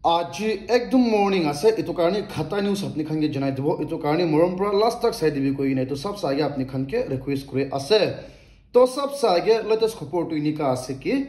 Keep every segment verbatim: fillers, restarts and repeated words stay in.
Aji ekdom morning ase, etu karne khata news apni khan ke janai dibo, etu karne morom pora last tak sai dibi koi kena etu sab sa age apni khan ke request kuri ase. To sab sa age latest khobor tu enika ase ki,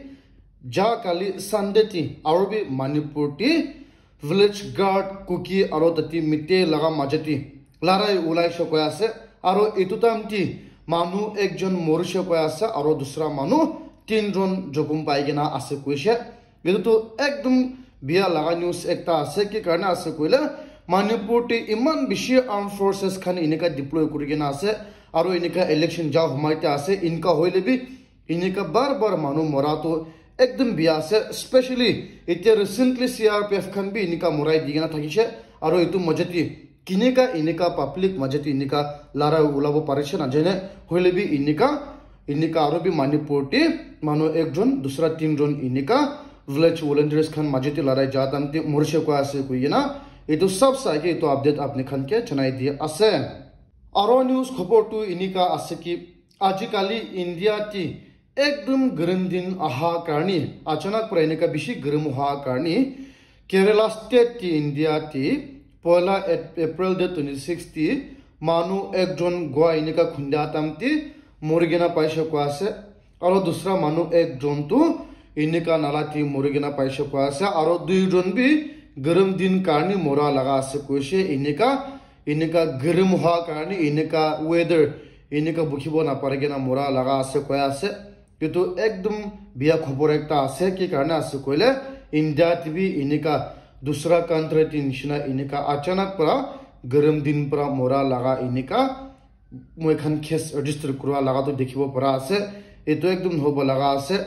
ja kali Sunday ti aru bi Manipur ti village guard Kuki aru tati Meitei laga majati larai ulai she koi ase, aru etu time ti manu ekjon morishe koi ase, aru dusra manu tinjon jokhom pai kena ase koishe. Etu tu ekdom biya laga news ekta ase, ki karne ase koile Manipur te iman bishi armed forces khan enika deploy kuri kena ase, aru enika election ja humai te ase, enika hoile bi enika bar bar manu mora tu ekdom biya ase, especially etia recently C R P F khan bi enika morai di kena thakishe, aru etu majati kinika enika public majati enika larai ulabo parishe na jane, hoile bi enika enika aru bi Manipur te manu ekjon dusra tinjon enika village volunteers khan majati larai ja time te morishe koi ase koi kena etu sab sa ke etu update apni khan ke janai di ase. Aru news khobor tu enika ase ki, ajikali India ti ekdom garam din aha karne, achanak pora enika bishi garam aha karne, Kerala state ti India ti poila Ap- April date twenty six ti manu ekjon gua enika khunda time ti mori kena paishe koi ase. Aru dusra manu ekjon tu enika nala ti mori kena paishe koi ase. Aru duijon bi garam din karne mora laga ase koishe, enika enika garam hoa karne, enika weather, enika bukhibo napari kena mora laga ase koi ase. Etu ekdom biya khobor ekta ase, ki karne ase koile India ti bi enika dusra country ti nishina enika achanak pora garam din pora mora laga enika moi khan case register kura laga tu dikhibo para ase. Etu ekdom hobo laga ase.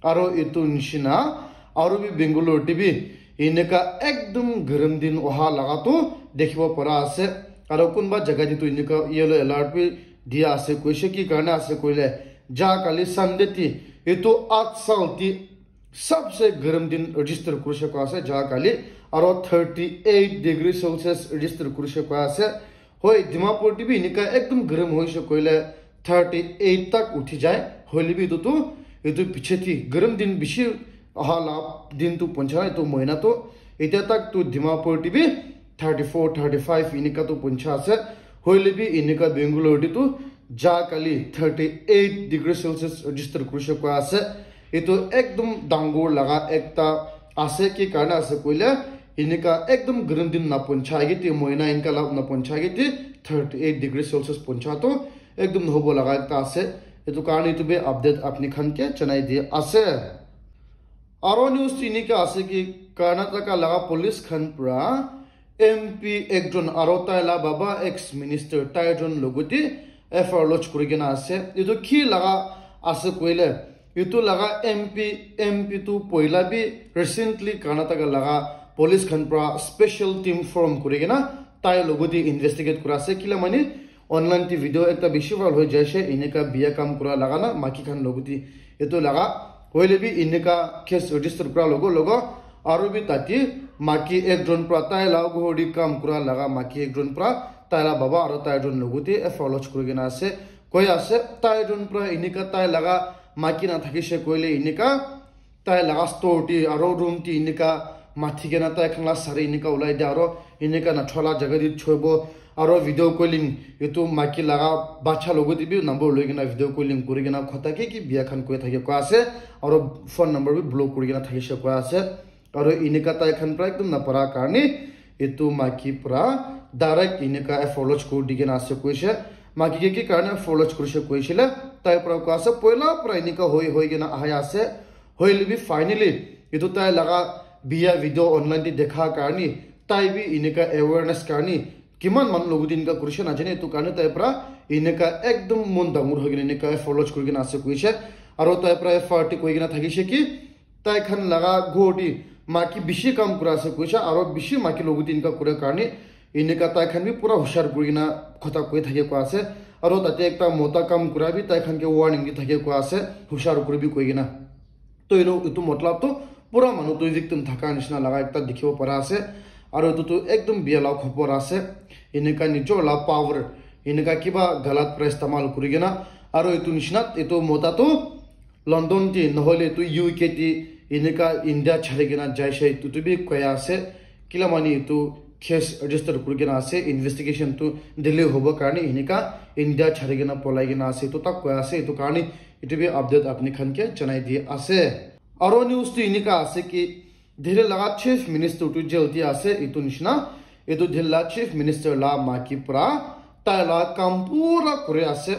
Aru etu nishina aru bi Bangalore ti bi enika ekdom garam din oha laga tu dikhibo para ase. Aru kunba jaga ti tu enika yellow alert bi dia ase, koishe ki karne ase koile ja kali Sunday ti etu at sal ti sabse garam din register kurishe koi ase ja kali, aru thirty eight degree Celsius register kurishe koi ase. Hoi, Dimapur ti bi enika ekdom garam hoishe koile thirty eight tak uthi jai. Hoile bi etu tu, etu piche ti garam din bishi aha la din tu poncha, etu mohina tu etia tak tu Dimapur ti bi thirty four, thirty five enika tu poncha ase. Hoile bi enika Bangalore ti tu ja kali thirty eight degree Celsius register kurishe koi ase. Etu ekdom dangor laga ekta ase, ki karne ase koile enika ekdom garam din na poncha age ti, mohina enika la na poncha age ti thirty eight degree Celsius poncha tu ekdom hobo laga ekta ase. Etu karne etu bi update apni khan ke janai di ase. Aru news ti enika ase ki, Karnataka laga police khan pora M P ekjon aru tai la baba ex minister tai jon logote F I R lodge kuri kena ase. Etu ki laga ase koile, etu laga M P, M P tu poila bi recently Karnataka laga police khan pora special team form kuri kena tai logote investigate kura ase. Kila mane online te video ekta bishi viral hoi jaise, enika biya kam kura laga na maki khan logote etu laga. Hoile bi enika case register kura logo logo aru bi tate maki ekjon pora tai la ghor te kam kura laga maki ekjon pora tai la baba aru tai jon logote F I R lodge kuri kena ase. Koi ase tai jon pora enika tai laga maki na thakishe koile enika tai laga store te aru room te enika mathi kena tai khan la sari enika ulai dia aru enika na thola jaga te choibo aru video calling etu maki laga bacha logote bi number loi kena video calling kuri kena khota ki ki biya khan koi thake koi ase aru phone number bi block kuri kena thakishe koi ase. Aru enika tai khan pora ekdom na para karne etu maki pora direct enika F I R lodge kuri di kena ase koishe. Maki ke ki karne F I R lodge kurishe koishe le, tai pora koi ase poila pora enika hoi hoi kena ahai ase. Hoile bi finally etu tai laga biya video online te dekha karne tai bi enika awareness karne kiman manu logote enika kurishe na jane, etu karne tai pora enika ekdom mon dangor hoi kena enika F I R lodge kuri kena ase koishe. Aru tai pora F I R te koi kena thakishe ki tai khan laga ghor te maki bishi kam kura ase koishe, aru bishi maki logote enika kura karne enika tai khan bi pura hushar kuri kena khota koi thake koi ase. Aru tate ekta mota kam kura bi tai khan ke warning di thake koi ase, hushar kuri bi koi kena. To eno etu matlab tu pura manu tu victim thaka nishina laga ekta dikhibo para ase. Aru etu tu ekdom biya la khobor ase. Enika nijor la power enika kiba galat pora istemal kuri kena, aru etu nishina etu mota tu London te nohoile tu U K te Enika India chari kena jai shai etu tu bi koi ase. Kila mani etu case register kuri kena ase, investigation tu delay hobo karne enika India chari kena polai kena ase, etu tak koi ase. Etu karne etu bi update apni khan ke janai di ase. Aro news tu enika ase ki Delhi laga chief minister tu jail te ase, etu nishina. Etu Delhi la chief minister la maki pra tai la kam pura kuri ase.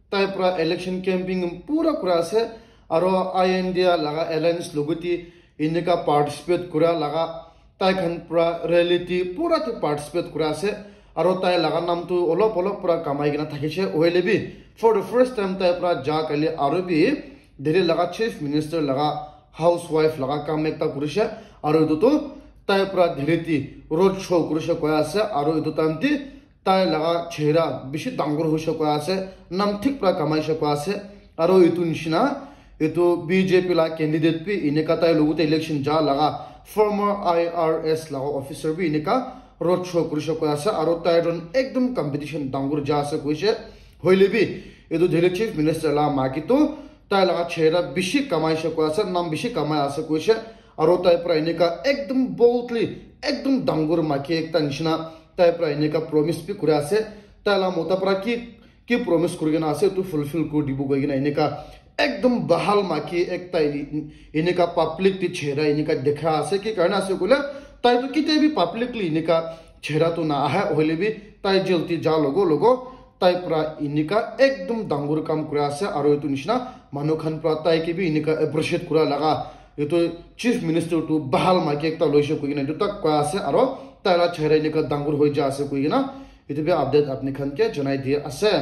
Tai pra election campaign pura kuri ase. Aro I N D A laga alliance logote enika participate kura laga tai khan pra rally te pura te participate kura ase. Aro tai laga nam tu olop olop pra kamai kena thakishe. Hoile bi for the first time tai pra ja kali aro bi Delhi laga chief minister laga housewife laga kam ekta kurishe. Aro etu tu tai pra Delhi te road show kurishe koi ase. Aro etu time te tai laga chehra bishi dangor hoishe koi ase, nam thik pra kamaishe koi ase. Aro etu nishina etu B J P la candidate bi enika tai logote election ja laga former I R S laga officer bi enika road show kurishe koi ase. Aro tai jon ekdom competition dangor ja ase koishe. Hoile bi etu Delhi chief minister la maki tu tai laga chehra bishi kamaishe koi ase, nam bishi kamai ase koishe. Aro tai pra enika ekdom boldly, ekdom dangor maki ekta nishina tai pra enika promise bi kuri ase. Tai la mota pra ki, ki promise kuri kena ase, etu fulfill kuri dibo koi kena enika ekdom bahal maki ekta ini-, enika public te chehra enika dekha ase. Ki karne ase koile, tai tu kitia bi publicly enika chehra tu na aha, hoile bi tai jail te ja logo logo tai pra enika ekdom dangor kam kuri ase. Aro etu nishina manu khan pra tai ke bi enika appreciate kura laga etu chief minister tu bahal maki ekta loishe koi kena etu tak koi ase. Aro tai la chehra enika dangor hoi ja ase koi kena etu bi update apni khan ke janai di ase.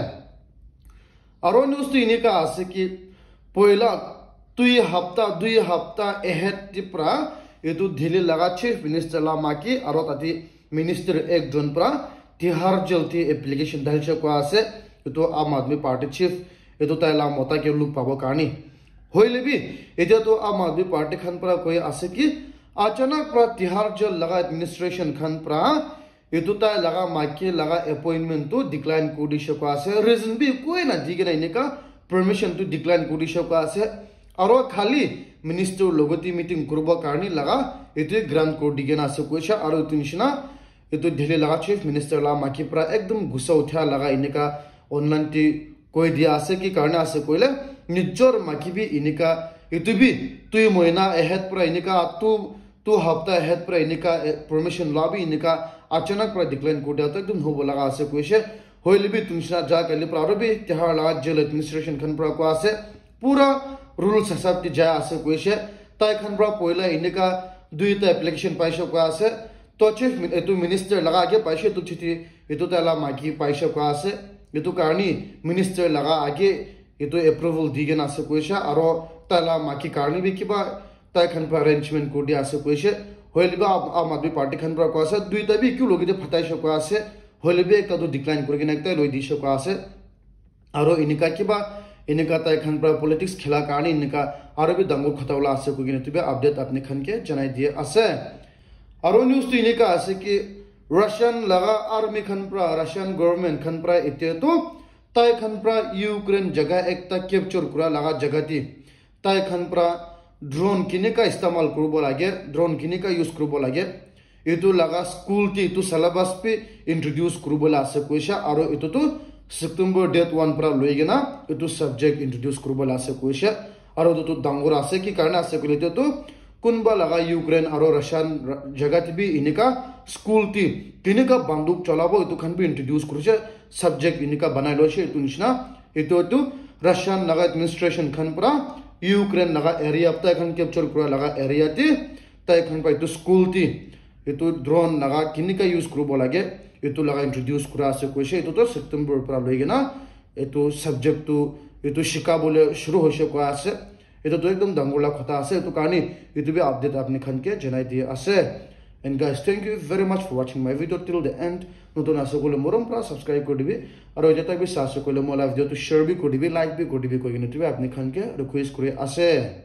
Aro news tu enika ase ki poila dui hapta, dui hapta ahead te pra etu Delhi laga chief minister la maki aro tate minister ekjon pra Tihar jail te application dalishe koi ase. Etu Aam Aadmi Party chief, etu tai la mota ke look pabo karne. Hoile bi etia tu Aam Aadmi Party khan pra koi ase ki achanak pra Tihar jail laga administration khan pra etu tai laga maki laga appointment tu decline kuri dishe koi ase. Reason bi koi na di kena enika permission tu decline kuri dishe koi ase. Aro khali minister logote meeting kuribo karne laga etu grant kuri di kena ase koishe. Aro etu nishina etu Delhi laga chief minister la maki pra ekdom gussa utha laga enika online te koi dia ase. Ki karne ase koile nijor maki bi enika etu bi dui mohina ahead pra enika tu tu hapta ahead pra enika, eh, permission la bi enika achanak pra decline kuri dia tu ekdom hobo laga ase koishe. Hoile bi etu nishina ja kali pra aro bi Tihar laga jail administration khan pra koi ase pura rules hisab te jai ase koishe. Tai khan pra poila enika duita application paishe koi ase. To chief min-, etu minister laga age paishe etu chiti, etu tai la maki paishe koi ase. Etu karne minister laga age etu approval di kena ase koishe. Aro tai la maki karne bi kiba tai khan pra arrangement kuri dia ase koishe. Hoile bi Aam, Aam Aadmi Party khan pra koi ase, duita bi eku logote phataishe koi ase. Hoile bi ekta tu decline kuri kena ekta loi dishe koi ase. Aro enika kiba, enika tai khan pra politics khela karne enika aro bi dangor khota wala ase koi kena etu bi update apni khan ke janai di ase. Aro news tu enika ase ki Russian laga army khan pra, Russian government khan pra etia tu tai khan pra Ukraine jaga ekta capture kura laga jaga te tai khan pra drone kinika istemal kuribo lage, drone kinika use kuribo lage, etu laga school te etu syllabus bi introduce kuribo la ase koishe. Aro etu tu September date one pra loi kena etu subject introduce kuribo la ase koishe. Aro etu tu dangor ase, ki karne ase koile etu tu kunba laga Ukraine aro Russian ra-, jaga te bi enika school te kinika banduk cholabo etu khan bi introduce kurishe, subject enika banai loishe etu nishina. Etu tu Russian laga administration khan pra Ukraine laga area, tai khan capture kura laga area te, tai khan pra etu school te etu drone laga kinika use kuribo lage, etu laga introduce kura ase koishe. Etu tu September pra loi kena etu subject tu etu shika bole shuru hoishe koi ase. Etu tu ekdom dangor la khota ase, etu karne etu bi update apni khan ke janai di ase. And guys, thank you very much for watching my video till the end. Notun ase koile morom pra subscribe kuri dibi. Aro etia tai bi sa ase koile mo la video tu share bi kuri dibi, like bi kuri dibi koi kena etu bi apni khan ke request kuri ase.